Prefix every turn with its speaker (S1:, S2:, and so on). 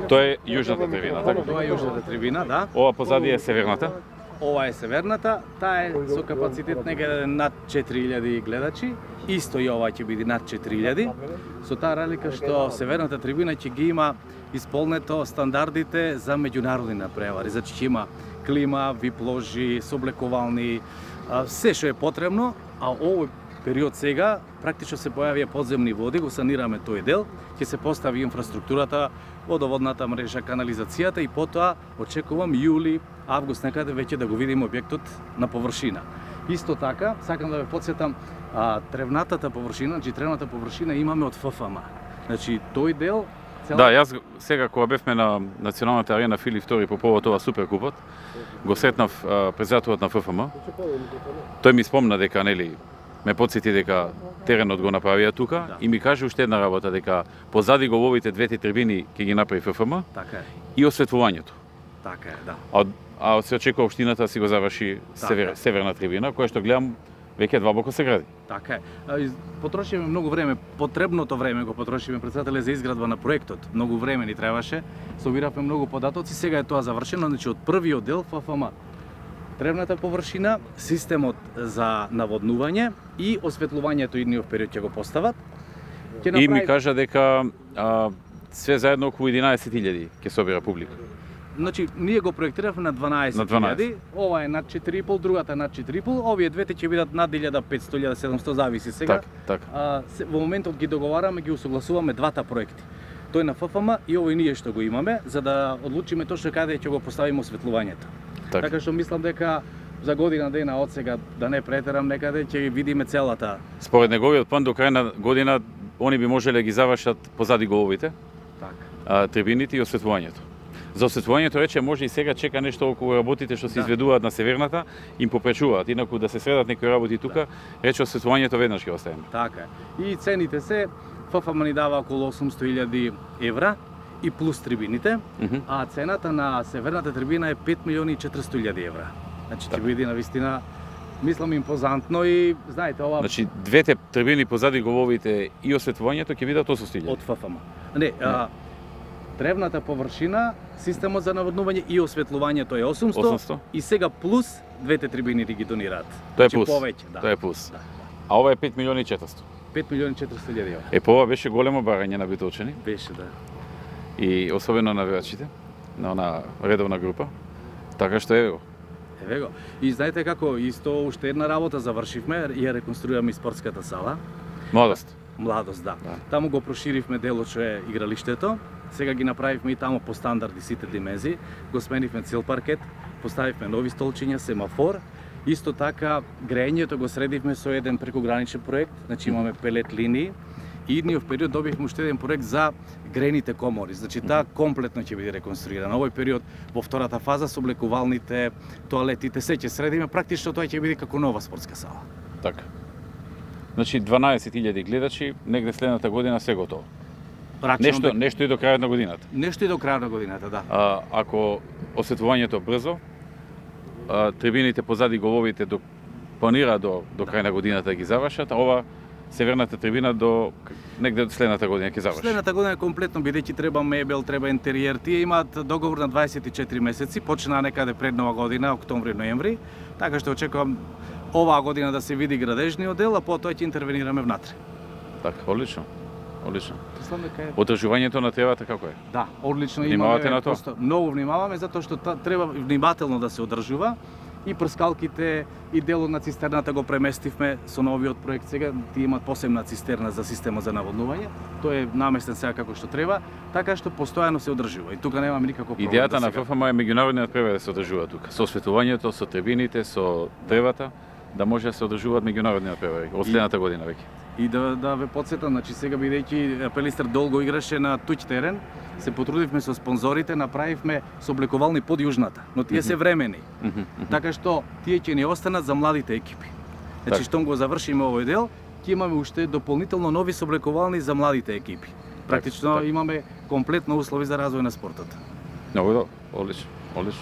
S1: Тоа е јужната трибина, така?
S2: Тоа е јужната трибина, да.
S1: Ова позади е северната.
S2: Ова е северната, таа е со капацитет некаде над 4000 гледачи, исто и ова ќе биде над 4000, со таа разлика што северната трибина ќе ги има исполнето стандардите за меѓународни напревари, значи ќе има клима, вип ложи, соблекувални, се што е потребно, а овој период сега практично се појавија подземни води, го санираме тој дел, ќе се постави инфраструктурата, водоводната мрежа, канализацијата и потоа очекувам јули, август некаде веќе да го видиме објектот на површина. Исто така, сакам да ве потсетам, тревнатата површина, значи тревната површина имаме од ФФМ. Значи тој дел
S1: Да, јас сега кога бевме на Националната арена Филип II по повод ова суперкупот, го сретнав председателот на ФФМ. Тој ми спомна дека нели ме потсети дека теренот го направија тука, да. И ми каже уште една работа дека позади головите двете трибини ќе ги направи ФФМ.
S2: Така е.
S1: И осветлувањето.
S2: Така е, да.
S1: А се очекува општината си го заврши северна трибина, која што гледам веќе длабоко се гради.
S2: Така е. Потрошиме многу време, потребното време го потрошиме председателе за изградба на проектот. Многу време ни требаше. Собиравме многу податоци, сега е тоа завршено, значи од првиот дел ФФМ. Тревната површина, системот за наводнување и осветлувањето идниот период ќе го постават.
S1: И ми кажа дека све заедно околу 11.000 ќе собира публика.
S2: Значи, ние го проектиравме на 12.000, ова е над 4,5, другата е над 4,5, овие двете ќе бидат над 1.500-1.700, зависи сега.
S1: Така.
S2: Во моментот ги договараме, ги усогласуваме двата проекти. Тој на ФФМ и овој ние што го имаме, за да одлучиме точно каде ќе го поставиме осветлувањето. Така што мислам дека за година дена од сега, да не претерам некаде, ќе видиме целата.
S1: Според неговиот план до крај на година они би можеле да ги завршат позади головите, трибините и осветлувањето. За осветлувањето рече може и сега чека нешто околу работите што се изведуваат на северната, им попречуваат, инаку да се средат некои работи тука, рече осветлувањето веднаш ќе оставиме.
S2: Така е. И цените се ФФМ ни дава околу 800.000 евра и плюс трибините, а цената на северната трибина е 5.400.000 евра. Значи ќе биде навистина, мислам, импозантно и знаете ова.
S1: Значи двете трибини позади головите и осветлувањето ќе бидат 800.000
S2: од ФФМ. Не, тревната површина, системот за наводнување и осветлувањето е 800 и сега плюс двете трибини ги донираат.
S1: Тоа е плюс.
S2: Повеќе, да.
S1: Тоа е плюс. Да. А ова е 5.400.000.
S2: 5.400.000 евра.
S1: По ова беше големо барање на битолчани.
S2: Беше, да.
S1: И особено на навивачите, на она редовна група. Така што ево.
S2: Еве го. И знаете како, исто уште една работа завршивме, ја реконструираме и спортската сала.
S1: Младост.
S2: Младост, да. Таму го проширивме делот што е игралиштето. Сега ги направивме и таму по стандарди сите димензии. Го сменивме цел паркет, поставивме нови столчиња, семафор. Исто така грејењето го средивме со еден прекограничен проект, значи имаме пелет линии. И идниот период добивме уште еден проект за грејните комори. Значи таа комплетно ќе биде реконструирана. Овој период во втората фаза со облекувалните, тоалетите, се ќе средиме, практично тоа ќе биде како нова спортска сала.
S1: Така. Значи 12.000 гледачи, негде следната година се готово. Нешто и до крајот на годината.
S2: Нешто и до крајот на годината, да.
S1: Ако осветлувањето брзо, трибините позади головите планира до крај на годината да ги завршат, а ова северната трибина до негде следната година ќе заврши.
S2: Следната година комплетно, бидејќи треба мебел, треба интериер. Тие имаат договор на 24 месеци, почнаа некаде пред нова година, октомври-ноември, така што очекувам оваа година да се види градежниот дел, а потоа ќе интервенираме внатре.
S1: Така, одлично. Одлично. Одржувањето на тревата како е?
S2: Да, одлично.
S1: Внимавате на тоа?
S2: Многу внимаваме, затоа што треба внимателно да се одржува. И прскалките и делот на цистерната го преместивме со новиот проект сега. Тие имаат посебна цистерна за система за наводнување. Тој е наместен сега како што треба, така што постојано се одржува. И тука немаме никаков проблем.
S1: Идејата на ФФМ е меѓународниот превоз да се одржува тука. Со осветлувањето, со трибините, со тревата, да може да се одржуваат меѓународниот превоз од следната година веќе.
S2: И да ве потсетам, значи сега бидејќи Пелистер долго играше на туѓ терен, се потрудивме со спонзорите, направивме соблекувални под јужната, но тие се времени. Така што тие ќе ни останат за младите екипи. Значи штом го завршиме овој дел, ќе имаме уште дополнително нови соблекувални за младите екипи. Практично имаме комплетно услови за развој на спортот.
S1: Много добро, одлично, одлично.